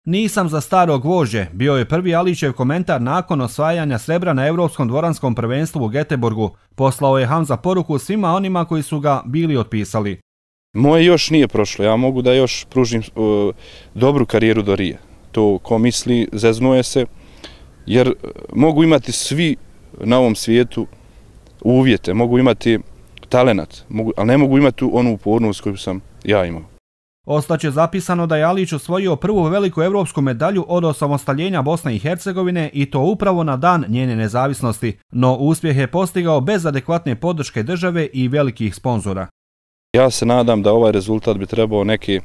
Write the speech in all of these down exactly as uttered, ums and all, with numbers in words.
Nisam za staro gvožđe, bio je prvi Alićev komentar nakon osvajanja srebra na Europskom dvoranskom prvenstvu u Göteborgu. Poslao je Hamza poruku svima onima koji su ga bili otpisali. Moje još nije prošlo, ja mogu da još pružim uh, dobru karijeru do Rija. To ko misli, zeznuje se, jer mogu imati svi na ovom svijetu uvjete, mogu imati talenat, mogu, ali ne mogu imati onu upornost koju sam ja imao. Ostaće zapisano da je Alić osvojio prvu veliku evropsku medalju od osamostaljenja Bosne i Hercegovine i to upravo na dan njene nezavisnosti, no uspjeh je postigao bez adekvatne podrške države i velikih sponzora. Ja se nadam da ovaj rezultat bi trebao neke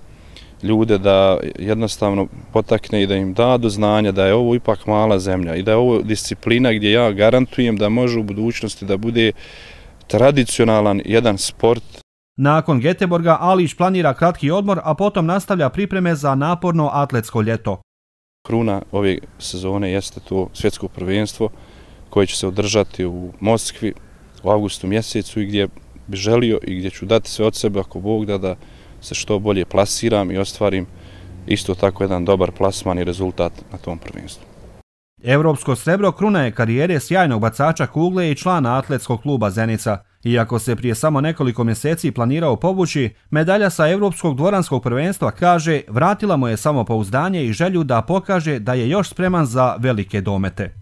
ljude da jednostavno potakne i da im da do znanja da je ovo ipak mala zemlja i da je ovo disciplina gdje ja garantujem da može u budućnosti da bude tradicionalan jedan sport. Nakon Göteborga Alić planira kratki odmor, a potom nastavlja pripreme za naporno atletsko ljeto. Kruna ove sezone jeste to svjetsko prvenstvo koje će se održati u Moskvi u avgustu mjesecu i gdje bi želio i gdje ću dati sve od sebe ako Bog da da se što bolje plasiram i ostvarim isto tako jedan dobar plasman i rezultat na tom prvenstvu. Europsko srebro kruna je karijere sjajnog bacača kugle i člana atletskog kluba Zenica. Iako se prije samo nekoliko mjeseci planirao povući, medalja sa Europskog dvoranskog prvenstva, kaže, vratila mu je samopouzdanje i želju da pokaže da je još spreman za velike domete.